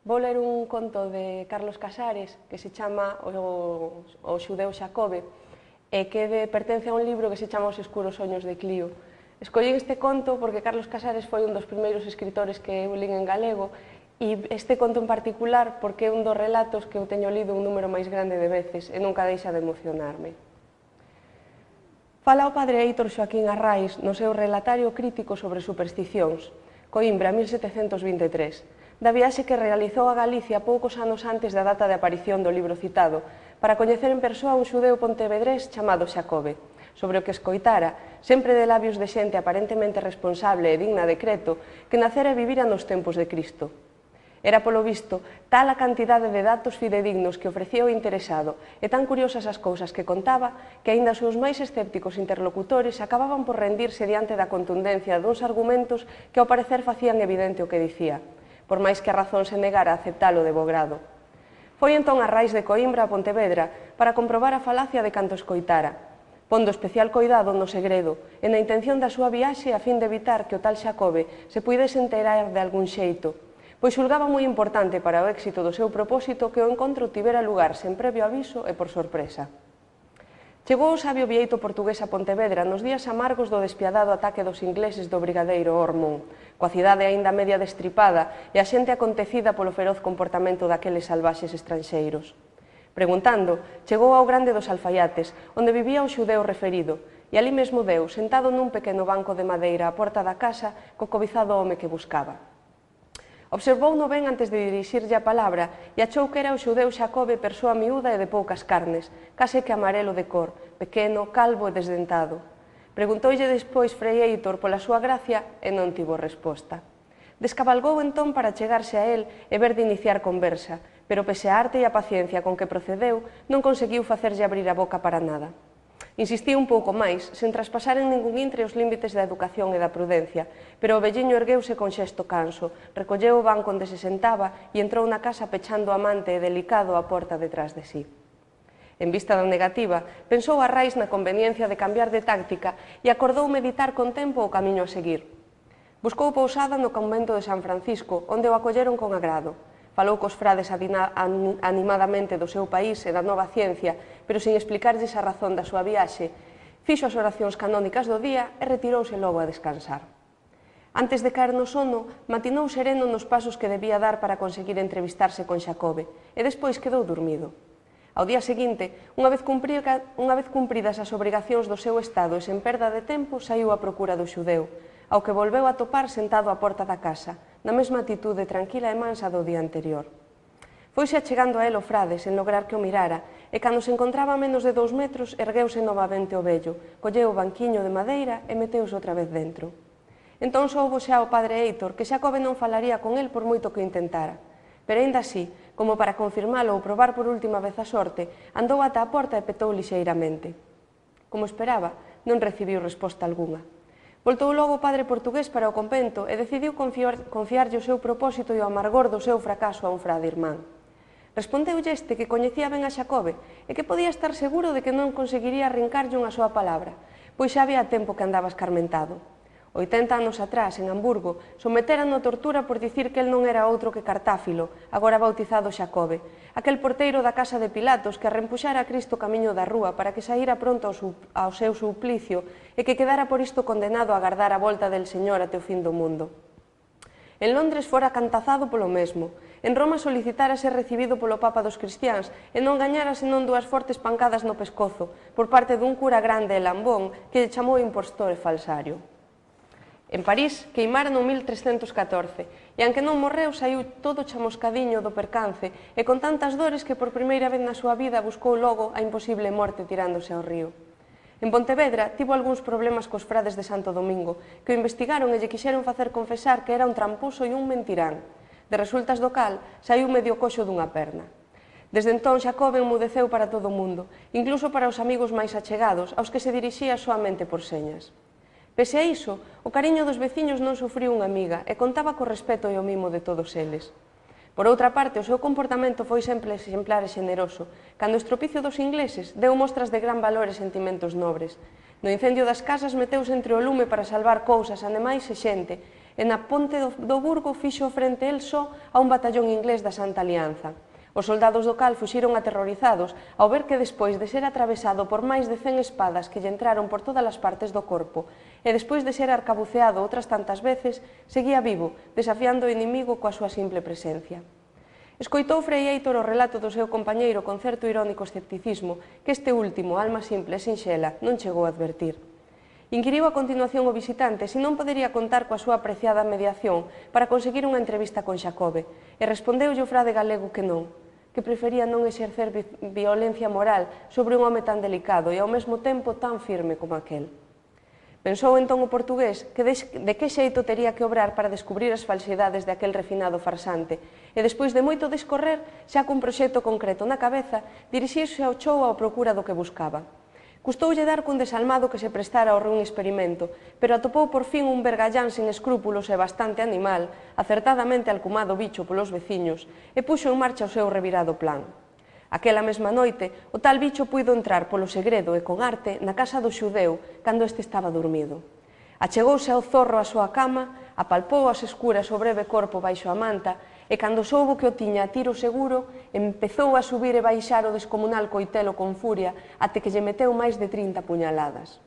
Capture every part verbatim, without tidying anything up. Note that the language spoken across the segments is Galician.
Vou ler un conto de Carlos Casares que se chama O, o xudeu Xacobe e que de, pertence a un libro que se chama Os escuros soños de Clio. Escollín este conto porque Carlos Casares foi un dos primeiros escritores que eu lín en galego e este conto en particular porque é un dos relatos que eu teño lido un número máis grande de veces e nunca deixa de emocionarme. Fala o padre Heitor Xoaquín Arraiz no seu relatario crítico sobre supersticións, Coimbra, mil setecentos vinte e tres, da viaxe que realizou a Galicia poucos anos antes da data de aparición do libro citado, para coñecer en persoa un xudeu pontevedrés chamado Xacobe, sobre o que escoitara, sempre de labios de xente aparentemente responsable e digna de creto, que nacera e vivira nos tempos de Cristo. Era, polo visto, tal a cantidade de datos fidedignos que ofrecía o interesado e tan curiosas as cousas que contaba que aínda os seus máis escépticos interlocutores acababan por rendirse diante da contundencia duns argumentos que ao parecer facían evidente o que dicía, por máis que a razón se negara a aceptalo de bo grado. Foi entón Arraiz de Coimbra a Pontevedra para comprobar a falacia de canto escoitara, pondo especial coidado no segredo e na intención da súa viaxe a fin de evitar que o tal Xacobe se puidese enterar de algún xeito, pois xulgaba moi importante para o éxito do seu propósito que o encontro tivera lugar sen previo aviso e por sorpresa. Chegou o sabio vieito portugués a Pontevedra nos días amargos do despiadado ataque dos ingleses do brigadeiro Ormond, coa cidade aínda media destripada e a xente acontecida polo feroz comportamento daqueles salvaxes estranxeiros. Preguntando, chegou ao grande dos alfaiates, onde vivía o xudeu referido, e ali mesmo deu, sentado nun pequeno banco de madeira á porta da casa, co cobizado home que buscaba. Observouno ben antes de dirixirlle a palabra e achou que era o xudeu Xacobe persoa miúda e de poucas carnes, case que amarelo de cor, pequeno, calvo e desdentado. Preguntoulle despois Frei Heitor pola súa gracia e non tivo resposta. Descabalgou entón para chegarse a él e ver de iniciar conversa, pero pese a arte e a paciencia con que procedeu, non conseguiu facerlle abrir a boca para nada. Insistiu un pouco máis, sen traspasar en ningún intre os límites da educación e da prudencia, pero o velliño ergueuse con xesto canso, recolleu o banco onde se sentaba e entrou na casa pechando amante e delicado a porta detrás de sí. En vista da negativa, pensou Arraiz na conveniencia de cambiar de táctica e acordou meditar con tempo o camiño a seguir. Buscou pousada no convento de San Francisco, onde o acolleron con agrado. Falou cos frades animadamente do seu país e da nova ciencia, pero sin explicarlles a razón da súa viaxe, fixo as oracións canónicas do día e retirouse logo a descansar. Antes de caer no sono, matinou sereno nos pasos que debía dar para conseguir entrevistarse con Xacobe, e despois quedou dormido. Ao día seguinte, unha vez cumpridas as obrigacións do seu estado e sen perda de tempo, saiu á procura do xudeu, ao que volveu a topar sentado á porta da casa, na mesma atitude tranquila e mansa do día anterior. Foise achegando a él o frade sen lograr que o mirara, e cando se encontraba a menos de dous metros, ergueuse novamente o vello, colleu o banquiño de madeira e meteuse outra vez dentro. Entón soubo xa o padre Heitor que Xacobe non falaría con el por moito que o intentara, pero aínda así, como para confirmalo ou probar por última vez a sorte, andou ata a porta e petou lixeiramente. Como esperaba, non recibiu resposta algunha. Voltou logo o padre portugués para o convento e decidiu confiarlle o seu propósito e o amargor do seu fracaso a un frade irmán. Respondeulle este que coñecía ben a Xacobe e que podía estar seguro de que non conseguiría arrincarlle unha súa palabra, pois xa había tempo que andaba escarmentado. oitenta anos atrás, en Hamburgo, someteran a tortura por dicir que el non era outro que Cartáfilo, agora bautizado Xacobe, aquel porteiro da casa de Pilatos que arrempuxara a Cristo camiño da rúa para que saíra pronto ao seu suplicio e que quedara por isto condenado a agardar a volta del Señor até o fin do mundo. En Londres fora cantazado polo mesmo, en Roma solicitara ser recibido polo Papa dos cristiáns e non gañara senón dúas fortes pancadas no pescozo por parte dun cura grande e lambón que lle chamou impostor e falsario. En París queimara no mil trescentos catorce e, aunque non morreu, saiu todo chamoscadiño do percance e con tantas dores que por primeira vez na súa vida buscou logo a imposible morte tirándose ao río. En Pontevedra tivo algúns problemas cos frades de Santo Domingo que o investigaron e lle quixeron facer confesar que era un tramposo e un mentirán. De resultas do cal, saiu medio coxo dunha perna. Desde entón Xacobe enmudeceu para todo o mundo, incluso para os amigos máis achegados, aos que se dirixía soamente por señas. Pese a iso, o cariño dos veciños non sufriu unha miga e contaba co respeto e o mimo de todos eles. Por outra parte, o seu comportamento foi sempre exemplar e xeneroso. Cando o estropicio dos ingleses deu mostras de gran valor e sentimentos nobres. No incendio das casas meteuse entre o lume para salvar cousas, animais e xente, e na ponte do Burgo fixo frente el só a un batallón inglés da Santa Alianza. Os soldados do cal fuxiron aterrorizados ao ver que despois de ser atravesado por máis de cen espadas que lle entraron por todas as partes do corpo e despois de ser arcabuceado outras tantas veces, seguía vivo, desafiando o inimigo coa súa simple presencia. Escoitou Frei Héitor o relato do seu compañeiro con certo irónico escepticismo que este último, alma simple e sinxela, non chegou a advertir. Inquiriu a continuación o visitante se non podería contar coa súa apreciada mediación para conseguir unha entrevista con Xacobe e respondeulle o frade galego que non, que prefería non exercer violencia moral sobre un home tan delicado e ao mesmo tempo tan firme como aquel. Pensou entón o portugués que de que xeito tería que obrar para descubrir as falsidades de aquel refinado farsante e despois de moito discorrer, xa cun proxecto concreto na cabeza, dirixiuse ao chou ao procura do que buscaba. Custoulle dar cun desalmado que se prestara ao ruin experimento, pero atopou por fin un vergallán sen escrúpulos e bastante animal, acertadamente alcumado bicho polos veciños, e puxo en marcha o seu revirado plan. Aquela mesma noite, o tal bicho puido entrar polo segredo e con arte na casa do xudeu cando este estaba dormido. Achegouse ao zorro á súa cama, apalpou as escuras o breve corpo baixo a manta e cando soubo que o tiña a tiro seguro, empezou a subir e baixar o descomunal coitelo con furia até que lle meteu máis de trinta puñaladas.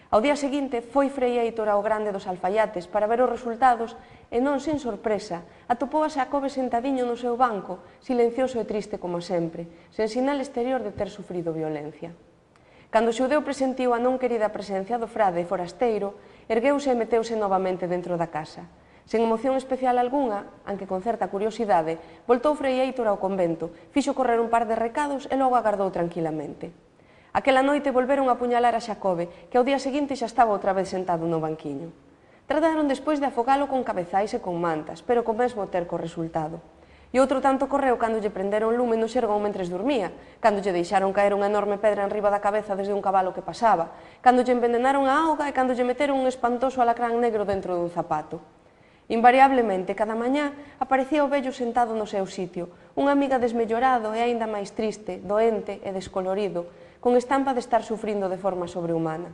Ao día seguinte foi Frei Héitor ao Grande dos Alfaiates para ver os resultados e non sin sorpresa atopou a Xacobe sentadiño no seu banco, silencioso e triste como sempre, sen sinal exterior de ter sufrido violencia. Cando o xudeu presentiu a non querida presencia do frade forasteiro, ergueuse e meteuse novamente dentro da casa. Sen emoción especial algunha, aunque con certa curiosidade, voltou Frei Héitor ao convento, fixo correr un par de recados e logo agardou tranquilamente. Aquela noite volveron a apuñalar a Xacobe, que ao día seguinte xa estaba outra vez sentado no banquiño. Trataron despois de afogalo con cabezais e con mantas, pero co mesmo terco resultado. E outro tanto correu cando lle prenderon lume no xergón mentres dormía, cando lle deixaron caer unha enorme pedra enriba da cabeza desde un cabalo que pasaba, cando lle envenenaron a auga e cando lle meteron un espantoso alacrán negro dentro dun zapato. Invariablemente, cada mañá, aparecía o vello sentado no seu sitio, unha amiga desmellorado e aínda máis triste, doente e descolorido, con estampa de estar sufrindo de forma sobrehumana.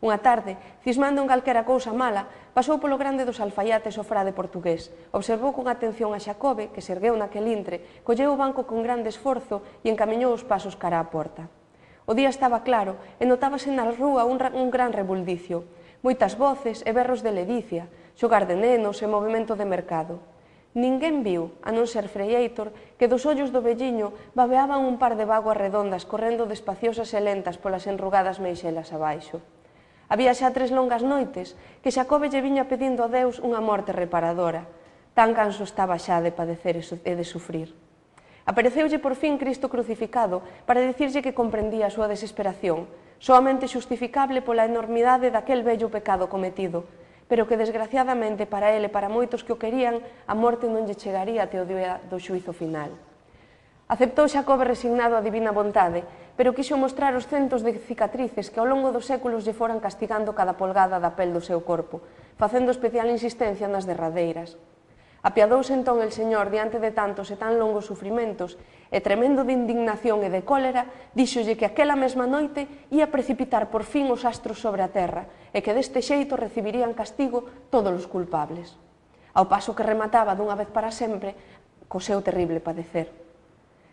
Unha tarde, cismando en calquera cousa mala, pasou polo Grande dos Alfaiates o frade portugués, observou con atención a Xacobe, que se ergueu naquel intre, colleu o banco con grande esforzo e encamiñou os pasos cara á porta. O día estaba claro e notábase na rúa un, un gran rebuldicio, moitas voces e berros de ledicia, xogar de nenos e movimento de mercado. Ninguén viu, a non ser Frei Héitor, que dos ollos do velliño babeaban un par de vaguas redondas correndo despaciosas e lentas polas enrugadas meixelas abaixo. Había xa tres longas noites que Xacobe lle viña pedindo a Deus unha morte reparadora. Tan canso estaba xa de padecer e de sufrir. Apareceulle por fin Cristo crucificado para dicirlle que comprendía a súa desesperación, soamente xustificable pola enormidade daquel vello pecado cometido, pero que desgraciadamente para ele e para moitos que o querían, a morte non lle chegaría até o día do xuízo final. Aceptou Xacobe resignado a divina vontade, pero quixo mostrar os centos de cicatrices que ao longo dos séculos lle foran castigando cada polgada da pel do seu corpo, facendo especial insistencia nas derradeiras. Apiadouse entón el Señor diante de tantos e tan longos sufrimentos e, tremendo de indignación e de cólera, díxolle que aquela mesma noite ia precipitar por fin os astros sobre a terra e que deste xeito recibirían castigo todos os culpables. Ao paso que remataba dunha vez para sempre co seu terrible padecer.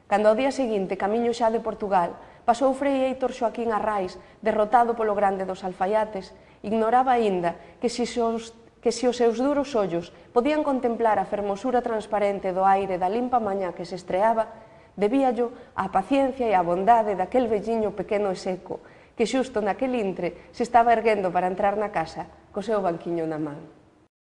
Cando ao día seguinte, camiño xa de Portugal, pasou Frei Héitor Xoaquín Arrais, derrotado polo Grande dos Alfaiates, ignoraba aínda que se os que se os seus duros ollos podían contemplar a fermosura transparente do aire da limpa mañá que se estreaba, debíallo á paciencia e á bondade daquel velliño pequeno e seco, que xusto naquel intre se estaba erguendo para entrar na casa co seu banquiño na man.